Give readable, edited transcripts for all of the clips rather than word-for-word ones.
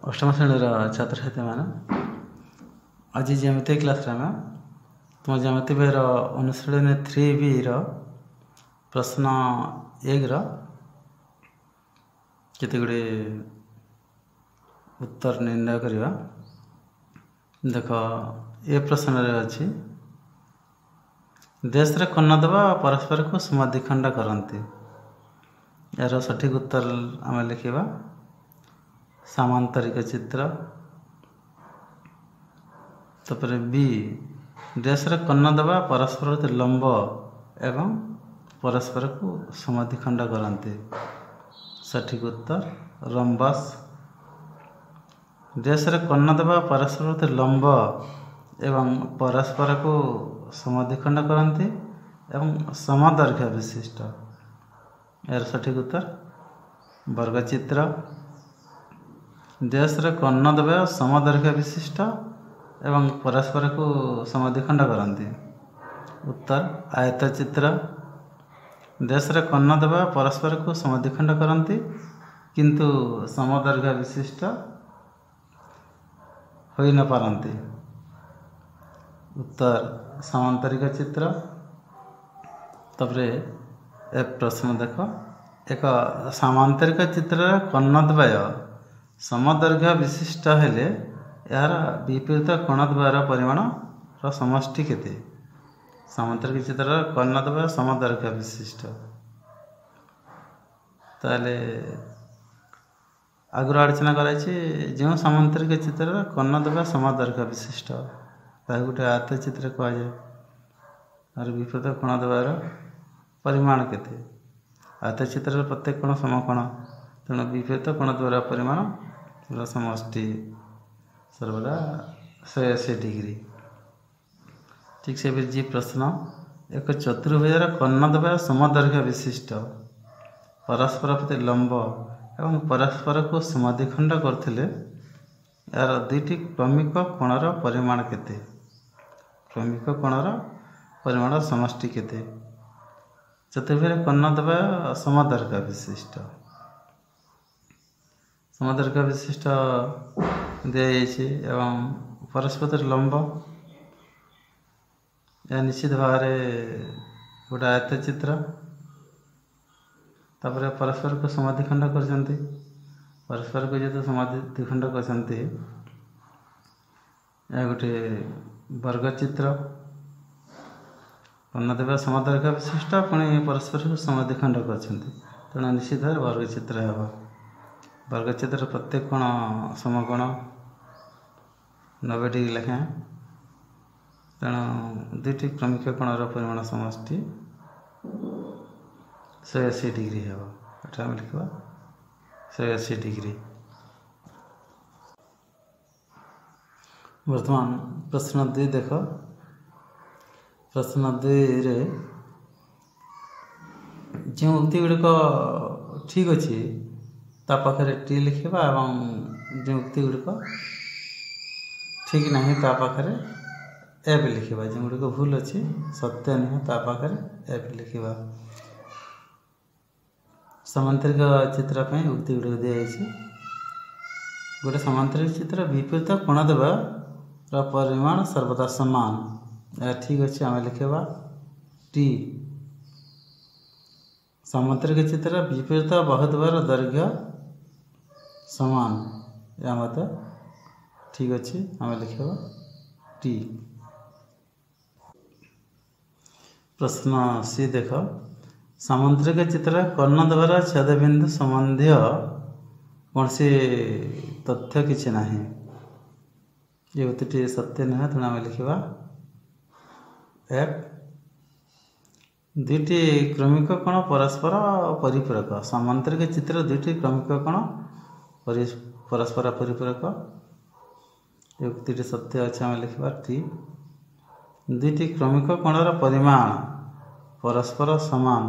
ଅଷ୍ଟମ ଶ୍ରେଣୀର ଛାତ୍ରଛାତ୍ରୀମାନେ, ଆଜି ଜ୍ୟାମିତି କ୍ଲାସ୍ରେ ଆମେ ତୁମ ଜ୍ୟାମିତି ବହିର ଅନୁଶୀଳନୀ 3Bର ପ୍ରଶ୍ନ 1ର କେତେ ଗୁଡ଼ିଏ ଉତ୍ତର ନିର୍ଣ୍ଣୟ କରିବା। ଦେଖ, ଏ ପ୍ରଶ୍ନରେ ଅଛି, ଦେଶରେ କର୍ଣ୍ଣଦ୍ୱୟ ପରସ୍ପରକୁ ସମାଧିଖଣ୍ଡ କରନ୍ତି। ଏହାର ସଠିକ୍ ଉତ୍ତର ଆମେ ଲେଖିବା ସାମାନ୍ତରିକ ଚିତ୍ର। ତାପରେ ବି, ଦେଶର କର୍ଣ୍ଣଦ୍ୱୟ ପରସ୍ପର ପ୍ରତି ଲମ୍ବ ଏବଂ ପରସ୍ପରକୁ ସମାଧିଖଣ୍ଡ କରନ୍ତି। ସଠିକ୍ ଉତ୍ତର ରମ୍ବସ୍। ଦେଶର କର୍ଣ୍ଣଦ୍ୱୟ ପରସ୍ପର ପ୍ରତି ଲମ୍ବ ଏବଂ ପରସ୍ପରକୁ ସମାଧିଖଣ୍ଡ କରନ୍ତି ଏବଂ ସମଦୈର୍ଘ୍ୟ ବିଶିଷ୍ଟ। ଏହାର ସଠିକ୍ ଉତ୍ତର ବର୍ଗଚିତ୍ର। ଦେଶର କର୍ଣ୍ଣଦ୍ୱୟ ସମଦୈର୍ଘ୍ୟ ବିଶିଷ୍ଟ ଏବଂ ପରସ୍ପରକୁ ସମାଧିଖଣ୍ଡ କରନ୍ତି। ଉତ୍ତର ଆୟତଚିତ୍ର। ଦେଶର କର୍ଣ୍ଣଦ୍ୱୟ ପରସ୍ପରକୁ ସମାଧିଖଣ୍ଡ କରନ୍ତି କିନ୍ତୁ ସମଦୈର୍ଘ୍ୟ ବିଶିଷ୍ଟ ହୋଇନପାରନ୍ତି। ଉତ୍ତର ସାମାନ୍ତରିକ ଚିତ୍ର। ତାପରେ ଏ ପ୍ରଶ୍ନ ଦେଖ, ଏକ ସାମାନ୍ତରିକ ଚିତ୍ରର କର୍ଣ୍ଣଦ୍ୱୟ ସମଦୈର୍ଘ୍ୟ ବିଶିଷ୍ଟ ହେଲେ ଏହାର ବିପରୀତ କୋଣଦ୍ୱୟର ପରିମାଣର ସମଷ୍ଟି କେତେ? ସାମାନ୍ତରିକ ଚିତ୍ରର କର୍ଣ୍ଣଦ୍ୱୟ ସମଦୈର୍ଘ୍ୟ ବିଶିଷ୍ଟ, ତାହେଲେ ଆଗରୁ ଆଲୋଚନା କରାଯାଇଛି, ଯେଉଁ ସାମାନ୍ତରିକ ଚିତ୍ରର କର୍ଣ୍ଣଦ୍ୱୟ ସମଦୈର୍ଘ୍ୟ ବିଶିଷ୍ଟ ତାହାକୁ ଗୋଟେ ଆୟତଚିତ୍ର କୁହାଯାଏ। ଆର ବିପରୀତ କୋଣଦ୍ୱୟର ପରିମାଣ କେତେ? ଆୟତଚିତ୍ରର ପ୍ରତ୍ୟେକ କୋଣ ସମକୋଣ, ତେଣୁ ବିପରୀତ କୋଣଦ୍ୱୟର ପରିମାଣର ସମଷ୍ଟି ସର୍ବଦା 180 ଡିଗ୍ରୀ। ଠିକ୍ ସେପରି ଯେ ପ୍ରଶ୍ନ, ଏକ ଚତୁର୍ଭୁଜର କର୍ଣ୍ଣଦ୍ୱୟ ସମଦୈର୍ଘ୍ୟ ବିଶିଷ୍ଟ, ପରସ୍ପର ପ୍ରତି ଲମ୍ବ ଏବଂ ପରସ୍ପରକୁ ସମାଧିଖଣ୍ଡ କରୁଥିଲେ ଏହାର ଦୁଇଟି କ୍ରମିକ କୋଣର ପରିମାଣ କେତେ? କ୍ରମିକ କୋଣର ପରିମାଣ ସମଷ୍ଟି କେତେ? ଚତୁର୍ଭୁଜର କର୍ଣ୍ଣଦ୍ୱୟ ସମଦୈର୍ଘ୍ୟ ବିଶିଷ୍ଟ, ସମଦୈର୍ଘ୍ୟ ବିଶିଷ୍ଟ ଦିଆଯାଇଛି ଏବଂ ପରସ୍ପର ଲମ୍ବ, ଏହା ନିଶ୍ଚିତ ଭାବରେ ଗୋଟେ ଆୟତଚିତ୍ର। ତାପରେ ପରସ୍ପରକୁ ସମାଧିଖଣ୍ଡ କରିଛନ୍ତି, ପରସ୍ପରକୁ ଯେହେତୁ ସମାଧି ଦ୍ୱିଖଣ୍ଡ କରିଛନ୍ତି ଏହା ଗୋଟିଏ ବର୍ଗଚିତ୍ର। କର୍ଣ୍ଣଦ୍ୱୟ ସମଦୈର୍ଘ୍ୟ ବିଶିଷ୍ଟ, ପୁଣି ପରସ୍ପରକୁ ସମାଧିଖଣ୍ଡ କରିଛନ୍ତି, ତେଣୁ ନିଶ୍ଚିତ ଭାବରେ ବର୍ଗଚିତ୍ର ହେବ। ବର୍ଗଚିତ୍ରର ପ୍ରତ୍ୟେକ କୋଣ ସମକୋଣ 90 ଡିଗ୍ରୀ ଲେଖାଏଁ, ତେଣୁ ଦୁଇଟି କ୍ରମିକ କୋଣର ପରିମାଣ ସମଷ୍ଟି 180 ଡିଗ୍ରୀ ହେବ। ଏଟା ଆମେ ଲେଖିବା 180 ଡିଗ୍ରୀ। ବର୍ତ୍ତମାନ ପ୍ରଶ୍ନ 2 ଦେଖ। ପ୍ରଶ୍ନ 2ରେ ଯେଉଁ ଉକ୍ତି ଗୁଡ଼ିକ ଠିକ୍ ଅଛି ତା ପାଖରେ ଟି ଲେଖିବା ଏବଂ ଯେଉଁ ଉକ୍ତି ଗୁଡ଼ିକ ଠିକ୍ ନାହିଁ ତା ପାଖରେ ଏଫ୍ ଲେଖିବା। ଯେଉଁଗୁଡ଼ିକ ଭୁଲ ଅଛି, ସତ୍ୟ ନୁହେଁ, ତା ପାଖରେ ଏଫ୍ ଲେଖିବା। ସମାନ୍ତରିକ ଚିତ୍ର ପାଇଁ ଉକ୍ତି ଗୁଡ଼ିକ ଦିଆଯାଇଛି। ଗୋଟେ ସମାନ୍ତରିକ ଚିତ୍ର ବିପରୀତ କୋଣଦ୍ୱୟର ପରିମାଣ ସର୍ବଦା ସମାନ, ଏହା ଠିକ୍ ଅଛି, ଆମେ ଲେଖିବା ଟି। ସାମାନ୍ତରିକ ଚିତ୍ର ବିପରୀତ ବାହୁଦ୍ୱୟର ଦୈର୍ଘ୍ୟ ସମାନ, ଏହା ମଧ୍ୟ ଠିକ୍ ଅଛି, ଆମେ ଲେଖିବା ଟି। ପ୍ରଶ୍ନ ସି ଦେଖ, ସାମାନ୍ତରିକ ଚିତ୍ର କର୍ଣ୍ଣଦ୍ୱୟର ଛେଦବିନ୍ଦୁ ସମ୍ବନ୍ଧୀୟ କୌଣସି ତଥ୍ୟ କିଛି ନାହିଁ, ଏ ଉକ୍ତିଟି ସତ୍ୟ ନୁହେଁ, ତେଣୁ ଆମେ ଲେଖିବା ଏଫ୍। ଦୁଇଟି କ୍ରମିକ କୋଣ ପରସ୍ପର ପରିପୂରକ, ସାମାନ୍ତରିକ ଚିତ୍ର ଦୁଇଟି କ୍ରମିକ କୋଣ ପରସ୍ପର ପରିପୂରକ, ଏ ଉକ୍ତିଟି ସତ୍ୟ ଅଛି, ଆମେ ଲେଖିବା ଟି। ଦୁଇଟି କ୍ରମିକ କୋଣର ପରିମାଣ ପରସ୍ପର ସମାନ,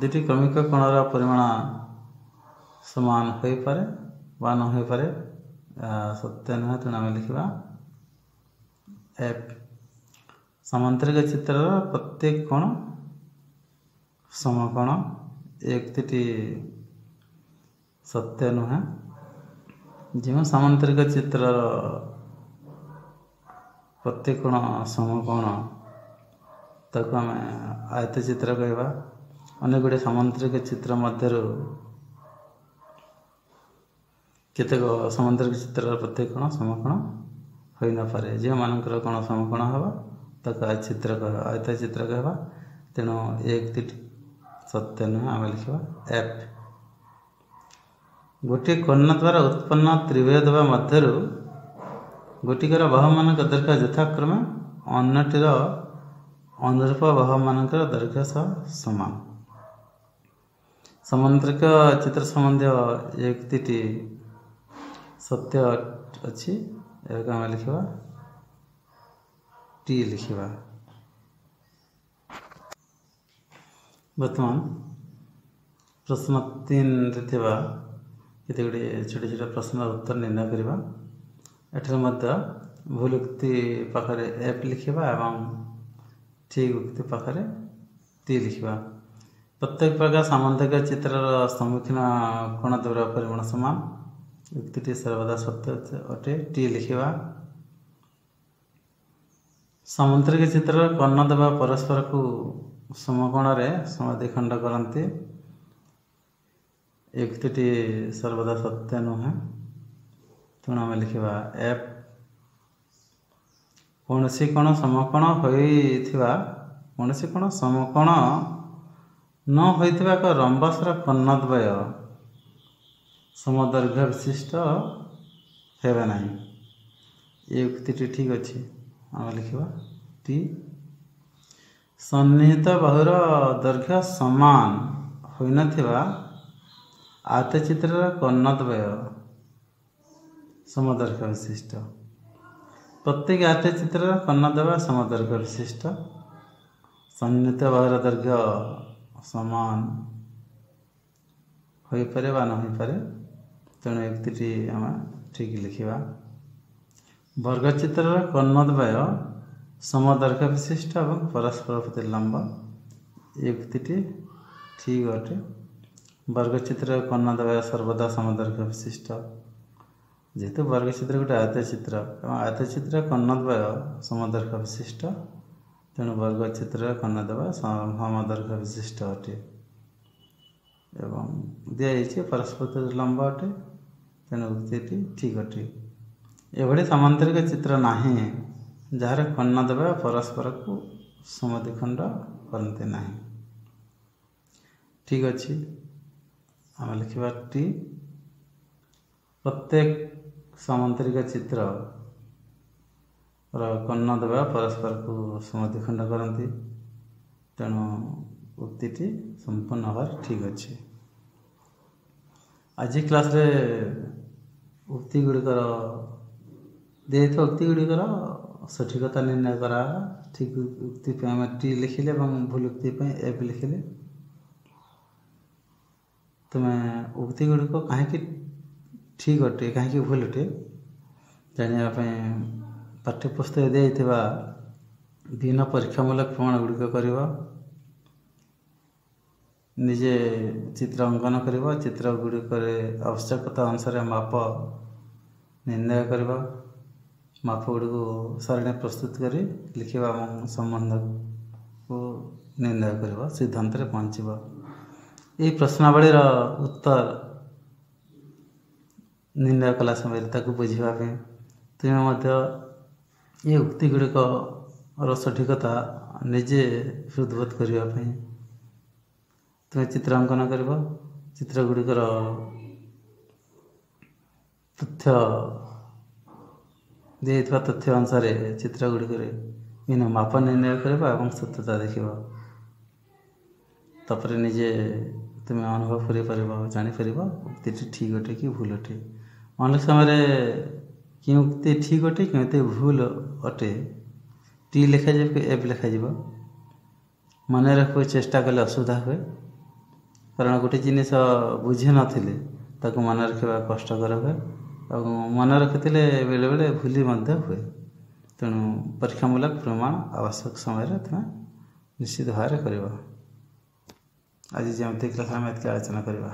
ଦୁଇଟି କ୍ରମିକ କୋଣର ପରିମାଣ ସମାନ ହୋଇପାରେ ବା ନ ହୋଇପାରେ, ସତ୍ୟ ନୁହେଁ, ତେଣୁ ଆମେ ଲେଖିବା ଏଫ୍। ସାମାନ୍ତରିକ ଚିତ୍ରର ପ୍ରତ୍ୟେକ କୋଣ ସମକୋଣ, ଏ ଉକ୍ତିଟି ସତ୍ୟ ନୁହେଁ। ଯେଉଁ ସାମନ୍ତରିକ ଚିତ୍ରର ପ୍ରତ୍ୟେକ କୋଣ ସମକୋଣ ତାକୁ ଆମେ ଆୟତଚିତ୍ର କହିବା। ଅନେକ ଗୁଡ଼ିଏ ସାମନ୍ତରିକ ଚିତ୍ର ମଧ୍ୟରୁ କେତେକ ସାମନ୍ତରିକ ଚିତ୍ରର ପ୍ରତ୍ୟେକ କୋଣ ସମକୋଣ ହୋଇନପାରେ। ଯେଉଁମାନଙ୍କର କୋଣ ସମକୋଣ ହେବ ତାକୁ ଆୟତଚିତ୍ର କହିବା। ତେଣୁ ଏ ଉକ୍ତିଟି ସତ୍ୟ ନୁହେଁ, ଆମେ ଲେଖିବା ଏଫ୍। ଗୋଟିଏ କର୍ଣ୍ଣ ଦ୍ୱାରା ଉତ୍ପନ୍ନ ତ୍ରିଭୁଜ ମଧ୍ୟରୁ ଗୋଟିକର ବାହୁମାନଙ୍କ ଦୈର୍ଘ୍ୟ ଯଥାକ୍ରମେ ଅନ୍ୟଟିର ଅନୁରୂପ ବାହୁମାନଙ୍କର ଦୈର୍ଘ୍ୟ ସହ ସମାନ। ସାମନ୍ତରିକ ଚିତ୍ର ସମ୍ବନ୍ଧୀୟ ଏ ଉକ୍ତିଟି ସତ୍ୟ ଅଛି, ଏହାକୁ ଆମେ ଲେଖିବା ଟି ଲେଖିବା। ବର୍ତ୍ତମାନ ପ୍ରଶ୍ନ 3ରେ ଥିବା କେତେ ଗୁଡ଼ିଏ ଛୋଟ ଛୋଟ ପ୍ରଶ୍ନର ଉତ୍ତର ନିର୍ଣ୍ଣୟ କରିବା। ଏଠାରେ ମଧ୍ୟ ଭୁଲ ଉକ୍ତି ପାଖରେ ଏଫ୍ ଲେଖିବା ଏବଂ ଠିକ୍ ଉକ୍ତି ପାଖରେ ଟି ଲେଖିବା। ପ୍ରତ୍ୟେକ ପ୍ରକାର ସାମନ୍ତରିକ ଚିତ୍ରର ସମ୍ମୁଖୀନ କୋଣ ଦ୍ୱୟର ପରିମାଣ ସମାନ। ଉକ୍ତିଟି ସର୍ବଦା ସତ୍ୟ ଅଟେ, ଟି ଲେଖିବା। ସାମନ୍ତରିକ ଚିତ୍ରର କର୍ଣ୍ଣ ଦେବା ପରସ୍ପରକୁ ସମକୋଣରେ ସମାଧିଖଣ୍ଡ କରନ୍ତି। ଏ ଉକ୍ତିଟି ସର୍ବଦା ସତ୍ୟ ନୁହେଁ, ତେଣୁ ଆମେ ଲେଖିବା ଏଫ୍। କୌଣସି କୋଣ ସମକୋଣ ହୋଇଥିବା କୌଣସି କୋଣ ସମକୋଣ ନ ହୋଇଥିବା ଏକ ରମ୍ବସର କର୍ଣ୍ଣଦ୍ୱୟ ସମଦୈର୍ଘ୍ୟ ବିଶିଷ୍ଟ ହେବେ ନାହିଁ। ଏ ଉକ୍ତିଟି ଠିକ୍ ଅଛି, ଆମେ ଲେଖିବା ଟି। ସନ୍ନିହିତ ବାହୁର ଦୈର୍ଘ୍ୟ ସମାନ ହୋଇନଥିବା ଆୟତଚିତ୍ରର କର୍ଣ୍ଣଦ୍ୱୟ ସମଦୈର୍ଘ୍ୟ ବିଶିଷ୍ଟ। ପ୍ରତ୍ୟେକ ଆୟତଚିତ୍ରର କର୍ଣ୍ଣଦ୍ୱୟ ସମଦୈର୍ଘ୍ୟ ବିଶିଷ୍ଟ। ସନ୍ନିହିତ ବାହୁର ଦୈର୍ଘ୍ୟ ସମାନ ହୋଇପାରେ ବା ନ ହୋଇପାରେ, ତେଣୁ ଉକ୍ତିଟି ଆମେ ଠିକ୍ ଲେଖିବା। ବର୍ଗଚିତ୍ରର କର୍ଣ୍ଣଦ୍ୱୟ ସମଦୈର୍ଘ୍ୟ ବିଶିଷ୍ଟ ଏବଂ ପରସ୍ପର ପ୍ରତି ଲମ୍ବ। ଏ ଉକ୍ତିଟି ଠିକ୍ ଅଟେ। ବର୍ଗଚିତ୍ରର କର୍ଣ୍ଣଦ୍ୱୟ ସର୍ବଦା ସମଦୈର୍ଘ୍ୟ ବିଶିଷ୍ଟ। ଯେହେତୁ ବର୍ଗଚିତ୍ର ଗୋଟେ ଆୟତଚିତ୍ର ଏବଂ ଆୟତଚିତ୍ର କର୍ଣ୍ଣଦ୍ୱୟ ସମଦୈର୍ଘ୍ୟ ବିଶିଷ୍ଟ, ତେଣୁ ବର୍ଗଚିତ୍ରର କର୍ଣ୍ଣଦ୍ୱୟ ସମଦୈର୍ଘ୍ୟ ବିଶିଷ୍ଟ ଅଟେ ଏବଂ ଦିଆଯାଇଛି ପରସ୍ପର ଲମ୍ବ ଅଟେ, ତେଣୁ ଉକ୍ତିଟି ଠିକ୍ ଅଟେ। ଏଭଳି ସାମନ୍ତରିକ ଚିତ୍ର ନାହିଁ ଯାହାର କର୍ଣ୍ଣଦ୍ୱୟ ପରସ୍ପରକୁ ସମଦ୍ୱିଖଣ୍ଡ କରନ୍ତି ନାହିଁ। ଠିକ୍ ଅଛି, ଆମେ ଲେଖିବା ଟି। ପ୍ରତ୍ୟେକ ସାମନ୍ତରିକ ଚିତ୍ରର କର୍ଣ୍ଣଦ୍ୱୟ ପରସ୍ପରକୁ ସମଦ୍ୱିଖଣ୍ଡ କରନ୍ତି, ତେଣୁ ଉକ୍ତିଟି ସମ୍ପୂର୍ଣ୍ଣ ଭାବରେ ଠିକ୍ ଅଛି। ଆଜି କ୍ଲାସ୍ରେ ଉକ୍ତି ଗୁଡ଼ିକର ଦିଆଯାଇଥିବା ଉକ୍ତି ଗୁଡ଼ିକର ସଠିକତା ନିର୍ଣ୍ଣୟ କରାଗଲା। ଠିକ୍ ଉକ୍ତି ପାଇଁ ଆମେ ଟି ଲେଖିଲେ ଏବଂ ଭୁଲ ଉକ୍ତି ପାଇଁ ଏଫ୍ ଲେଖିଲେ। ତୁମେ ଉକ୍ତି ଗୁଡ଼ିକ କାହିଁକି ଠିକ୍ ଅଟେ କାହିଁକି ଭୁଲ ଅଟେ ଜାଣିବା ପାଇଁ ପାଠ୍ୟପୁସ୍ତକରେ ଦିଆଯାଇଥିବା ବିଭିନ୍ନ ପରୀକ୍ଷାମୂଳକ ପ୍ରମାଣ ଗୁଡ଼ିକ କରିବ, ନିଜେ ଚିତ୍ର ଅଙ୍କନ କରିବ, ଚିତ୍ର ଗୁଡ଼ିକରେ ଆବଶ୍ୟକତା ଅନୁସାରେ ମାପ ନିର୍ଣ୍ଣୟ କରିବ, ମାପ ଗୁଡ଼ିକୁ ସାରଣୀ ପ୍ରସ୍ତୁତ କରି ଲେଖିବା ଏବଂ ସମ୍ବନ୍ଧକୁ ନିର୍ଣ୍ଣୟ କରିବ, ସିଦ୍ଧାନ୍ତରେ ପହଞ୍ଚିବ। ଏହି ପ୍ରଶ୍ନାବଳୀର ଉତ୍ତର ନିର୍ଣ୍ଣୟ କଲା ସମୟରେ ତାକୁ ବୁଝିବା ପାଇଁ ତୁମେ ମଧ୍ୟ ଏ ଉକ୍ତି ଗୁଡ଼ିକର ସଠିକତା ନିଜେ ହୃଦବୋଧ କରିବା ପାଇଁ ତୁମେ ଚିତ୍ର ଅଙ୍କନ କରିବ, ଚିତ୍ର ଗୁଡ଼ିକର ତଥ୍ୟ ଦିଆଯାଇଥିବା ତଥ୍ୟ ଅନୁସାରେ ଚିତ୍ର ଗୁଡ଼ିକରେ ବିଭିନ୍ନ ମାପ ନିର୍ଣ୍ଣୟ କରିବ ଏବଂ ସତ୍ୟତା ଦେଖିବ। ତାପରେ ନିଜେ ତୁମେ ଅନୁଭବ କରିପାରିବ, ଜାଣିପାରିବ ଉକ୍ତିଟି ଠିକ୍ ଅଟେ କି ଭୁଲ ଅଟେ। ଅନେକ ସମୟରେ କେଉଁ ଉକ୍ତି ଠିକ୍ ଅଟେ କେଉଁ ଉକ୍ତି ଭୁଲ ଅଟେ ଟି ଲେଖାଯିବ କି ଏଫ୍ ଲେଖାଯିବ ମନେ ରଖିବାକୁ ଚେଷ୍ଟା କଲେ ଅସୁବିଧା ହୁଏ, କାରଣ ଗୋଟେ ଜିନିଷ ବୁଝିନଥିଲେ ତାକୁ ମନେ ରଖିବା କଷ୍ଟକର ହୁଏ ଏବଂ ମନେ ରଖିଥିଲେ ବେଳେବେଳେ ଭୁଲି ମଧ୍ୟ ହୁଏ। ତେଣୁ ପରୀକ୍ଷାମୂଳକ ପ୍ରମାଣ ଆବଶ୍ୟକ ସମୟରେ ତୁମେ ନିଶ୍ଚିତ ଭାବରେ କରିବ। ଆଜି ଯେମିତି କ୍ଲାସ୍ ଆମେ ଏତିକି ଆଲୋଚନା କରିବା।